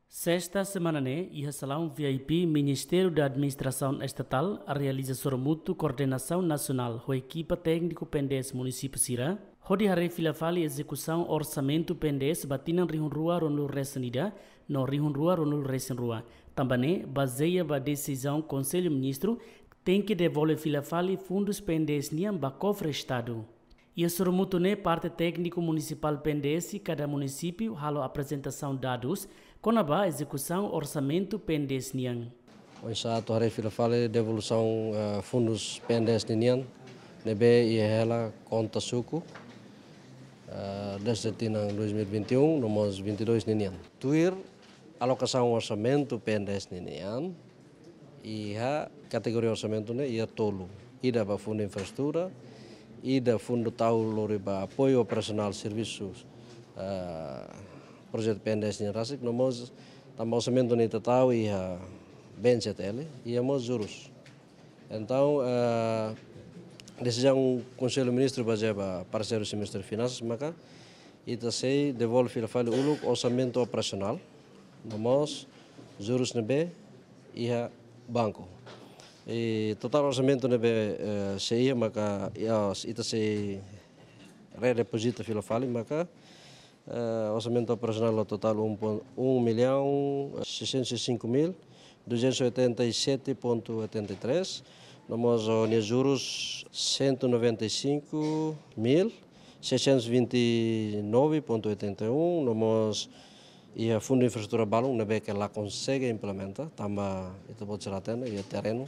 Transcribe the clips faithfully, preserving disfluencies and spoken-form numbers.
Sesta semana ne'e, iha salaun V I P Ministériu da Administrasaun Estatál realiza sorumutu koordenasaun nasionál ho ekipa tékniku P N D S munisípiu sira, hodi haree fila fali ezekusaun orsamentu P N D S ba tinan rihun rua ruanulu resin ida no rihun rua ruanulu resin rua. Tanba ne'e, bazeia ba desizaun Konsellu Ministru, tenke devolve fila fali fundus P N D S nian ba kofre Estadu. Iha sorumutu ne'e parte tékniku munisipál P N D S kada munisípiu halo aprezentasaun dadus kona-ba ezekusaun orsamentu P N D S nian. Oinsá atu haree fila fali devolusaun, eh, fundus P N D S ninian, ne'ebé iha hela konta suku, eh, dezde tinan dois mil e vinte e um, no mós vinte e dois ninian. Tuir alokasaun orsamentu P N D S ninian, iha kategoria orsamentu ne'e iha tolu. Ida ba fundu infraestrutura, ida fundu tau lori ba apoiu operasionál servisu, eh, projetu P N D S nian rasik, no mós tanba orsamentu ne'e ita tau iha B N C T L, iha mós jurus. Entaun, eh, desizaun Konsellu Ministru bazeia ba parseiru Ministériu Finansas, maka ita sei devolve fila fali uluk orsamentu operasionál, no mós jurus ne'ebé iha banku. I totál orsamentu ne'ebé, eh, sei iha maka, iha, ita sei redepozita fila fali maka, eh, orsamentu operasionál totál um pon-, um milhão seiscentos e cinco mil duzentos e oitenta e sete ponto oitenta e três, no mós, ó, nia jurus cento e noventa e cinco mil seiscentos e vinte e nove ponto oitenta e um, no mós iha fundu infraestrutura balun ne'ebé ke la konsege implementa, tanba ita-boot sira hatene, iha terrenu,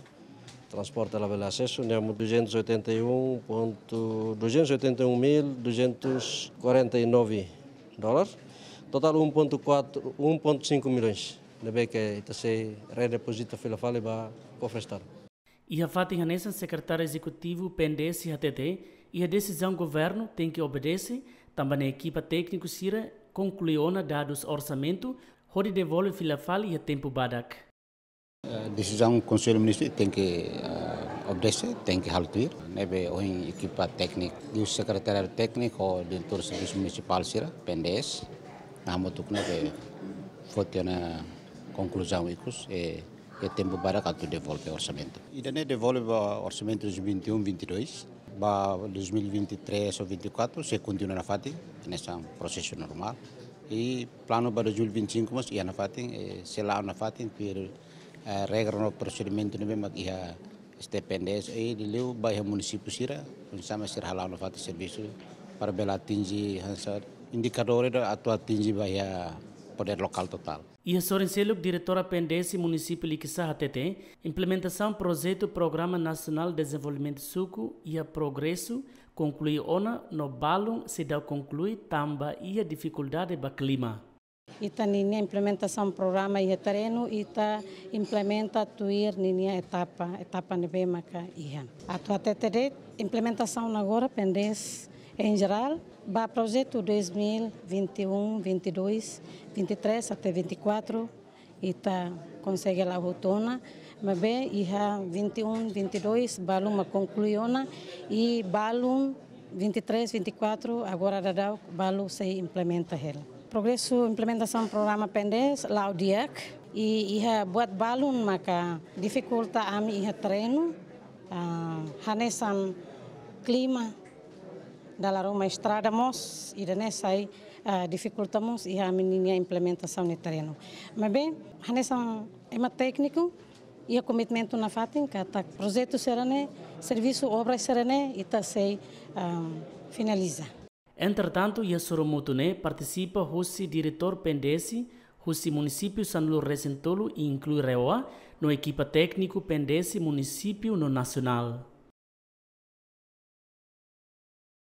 transporte labele asesu, ne'e mós duzentos e oitenta e um ponto, duzentos e oitenta e um mil duzentos e quarenta e nove dólar, totál um ponto quatro, um ponto cinco milhões, ne'ebé ke ita sei redepozita fila fali ba kofre Estadu. Iha fatin hanesan Sekretáriu Ezekutivu P N D S hatete, iha desizaun governu tenke obedese, tanba ne'e ekipa tékniku sira konklui ona dadus orsamentu, hodi devolve fila fali iha tempu badak. Eh, desizaun Konsellu Ministru tenke, eh, obedese, tenke halo tuir. Ne'ebé ohin ekipa tékniku, liuhusi Sekretariadu Tékniku, Diretór Servisu Munisipál sira, P N D S, hamutuk ne'ebé foti ona konkluzaun ikus, eh, iha tempu badak atu devolve orsamentu. Ida-ne'e devolve ba orsamentu dois mil e vinte e um, vinte e dois, ba dois mil e vinte e três ou vinte e quatro, sei kontinua nafatin, hanesan prosesu normál. I planu ba dois mil e vinte e cinco mós iha nafatin, eh, sei la'o nafatin, tuir, eh, regra no prosedimentu ne'ebé mak iha S T P N D S, i liuliu ba iha munisípiu sira, oinsá mak sira hala'o nafatin servisu, para bele atinje, hanesan indikadór ida atu atinje ba iha podér lokál totál. Iha sorin seluk, Diretora P N D S Munisípiu Likisá hatete, implementasaun projetu Programa Nasionál Dezenvolvimentu Suku iha progresu, konklui ona no balun seidauk konklui tanba iha difikuldade ba klima. Ita ninia implementasaun programa iha terrenu, ita implementa tuir ninia etapa, etapa ne'ebé maka iha. Atu hatete de'it, implementasaun agora P N D S em geral, ba projetu dois mil e vinte e um, vinte e dois, vinte e três até vinte e quatro, ita konsege la'o hotu ona, maibé iha vinte e um, vinte e dois, balun mak konklui ona, i balun vinte e três, vinte e quatro, agora daudaun balu sei implementa hela. Progresu implementasaun programa P N D S la'o di'ak, i iha buat balun maka difikulta ami iha terrenu, ah, hanesan klima, dala ruma estrada mós, ida-ne'e sai, ah, difikulta mós iha ami ninia implementasaun iha terrenu. Maibé, hanesan ema tékniku, iha komitmentu nafatin katak projetu sira-ne'e, servisu obra sira-ne'e, ita sei, ah, finaliza. Entretantu, iha sorumutu ne'e partisipa husi diretór P N D S husi munisípiu sanulu resin tolu, inklui RAEOA, no ekipa tékniku P N D S munisípiu no nasionál.